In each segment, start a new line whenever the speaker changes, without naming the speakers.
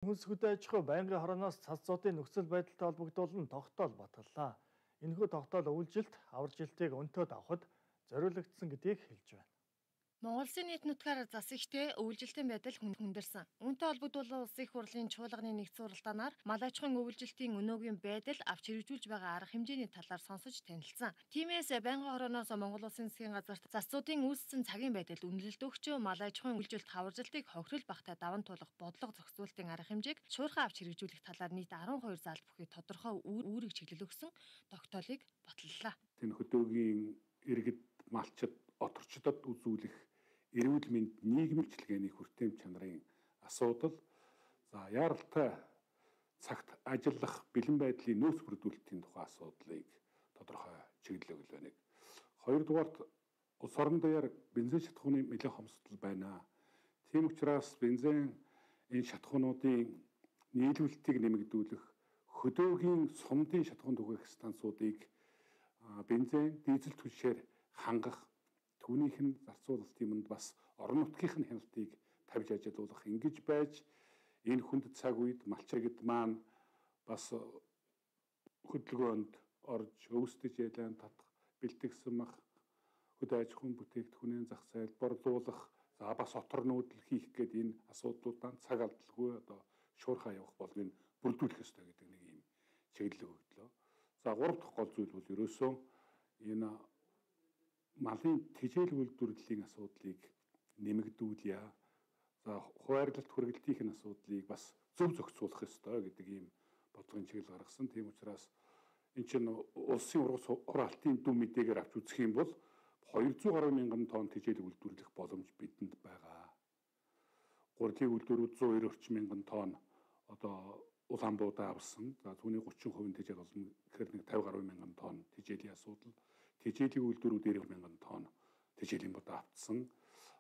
Хүнс хөдөө аж ахуй байнгын хорооноос цацзуудын нөхцөл байдалтай холбогдуулан тогтоол батгаллаа. Энэхүү тогтоол өвлжилт, авар жилтийг өнтөөд авахд зориулагдсан гэдгийг хэлж байна.
Монгол Улсын нийт нутгаар зас ихтэй өвлжилтийн байдал хүндэрсэн. Үүнтэй холбогдуулан Улсын их хурлын чуулганы нэгдсэн уралдаанаар мал аж ахуйн өвлжилтийн өнөөгийн байдал авч хэрэгжүүлж байгаа арга хэмжээний талаар сонсож танилцсан. Тиймээс байнгын хорооноос Монгол Улсын засгийн газарт засцуудын үүссэн цагийн байдал үнэлэлт өгч мал аж ахуйн өвлжилт хаваржилтыг хохирол багтаа даван туулах бодлого зохицуултын арга хэмжээг шуурхай авч хэрэгжүүлэх талаар нийт 12 залт бүхий тодорхой үүрэг чиглэл өгсөн тогтоолыг баталлаа.
Тэн хөдөөгийн иргэд малчид оторчдод үзүүлэх эрүүл мэнд нийгмийн чиглэгээний хүртээмж чанарын асуудал, яаралтай цагт ажиллах бэлэн байдлын нөөц бүрдүүлэлтийн тухай асуудлыг тодорхой чиглэл өгөл байна. Хоёрдугаарт улс орон дээр бензин шатхууны нэлээд хомсдол байна. Тийм учраас бензин энэ шатхуунуудын нийлүүлэлтийг нэмэгдүүлэх, хөдөөгийн сумдын шатхуун түгээх станцуудыг бензин, дизель түлшээр хангах, түүнийх нь зарцуулалтын юмд бас орон нутгийн хяналтыг тавьж ажиллуулах ингэж байж энэ хүнд цаг үед малчиргад маань бас хөдөлгөөнд орж өвсдөж ялан татах, бэлтгэсэн мах, хөдөө аж ахуйн бүтээгдэхүүнийн зах зээлд борлуулах, бас отор нүүдэл хийх гээд энэ асуудлуудаа цаг алдалгүй шуурхай явах болгыг бүрдүүлэх ёстой гэдэг нэг юм чиглэл өгдлөө. Гурав дахь гол зүйл бол ерөөсөө энэ малын тэжээл үйлдвэрлэлийн асуудлыг нэмэгдүүлье. Хуваарлалт хүргэлтийн асуудлыг бас зөв зохицуулах ёстой гэдэг ийм бодлогын чиглэл гаргасан. Тийм учраас энэ чинь улсын ургалтын дүн мэдээгээр авч үзэх юм бол 200 гаруй мянган тонн тэжээл үйлдвэрлэх боломж бидэнд байгаа. Гурилын үйлдвэрүүд 190 орчим мянган тонн Улаанбуудаа авсан. Түүний 30% тэжээл болно. Тэгэхээр нэг 50 гаруй мянган тонн тэжээлийн асуудал. Тэжээлийн үйлдвэрүүд 90 мянган тонн тэжээлийн бодоо автсан.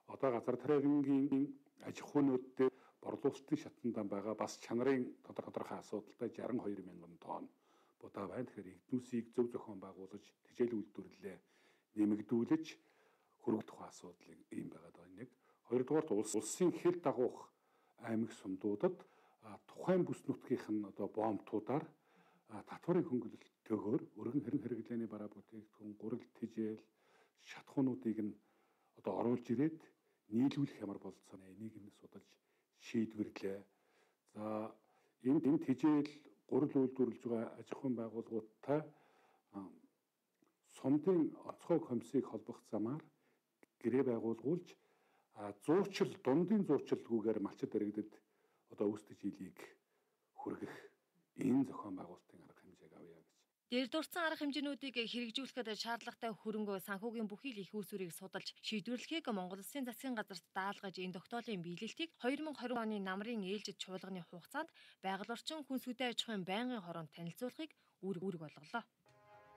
Газар тариагийн аж ахуйнууд дээр борлуулалтын шатнаа байгаа бас чанарын тодорхой асуудалтай 62 мянган тонн бодоо байна. Тэгэхээр эрдэнэсийг зөв зохион байгуулж тэжээлийн үйлдвэрлэлээ нэмэгдүүлж хөргөх асуудлыг ийм байгаад байгаа нэг. Хоёрдугаарт улсын хэл дагуух аймаг сумдуудад тухайн бүс нутгийнх нь боомтуудаар татварын хөнгөлөлтөөр өргөн хэрэглээний бараа бүтээгдэхүүн, гурил, тэжээл, шатхуунуудыг нь оруулж ирээд нийлүүлэх ямар болцоо энийг нь судалж шийдвэрлээ. Энэ тэжээл гурил үйлдвэрлэж байгаа аж ахуйн байгууллагуудтай сумдын онцгой комиссийг холбох замаар гэрээ байгуулгуулж дундын зуучлалгүйгээр малчид иргэдэд өсдөж илийг хүргэх энэ зохион байгуулалтын арга хэмжээг авъя гэж.
Дээр дурдсан арга хэмжээнүүдийг хэрэгжүүлэхэд шаардлагатай хөрөнгө санхүүгийн бүхий л их үүсвэрийг судалж шийдвэрлэхийг Монгол Улсын засгийн газарт даалгаж энэ тогтоолын биелэлтийг 2020 оны намрын ээлжид чуулганы хугацаанд байгаль орчин хүнс хөдөө аж ахуйн байнгын хороонд танилцуулахыг үүрэг болголоо.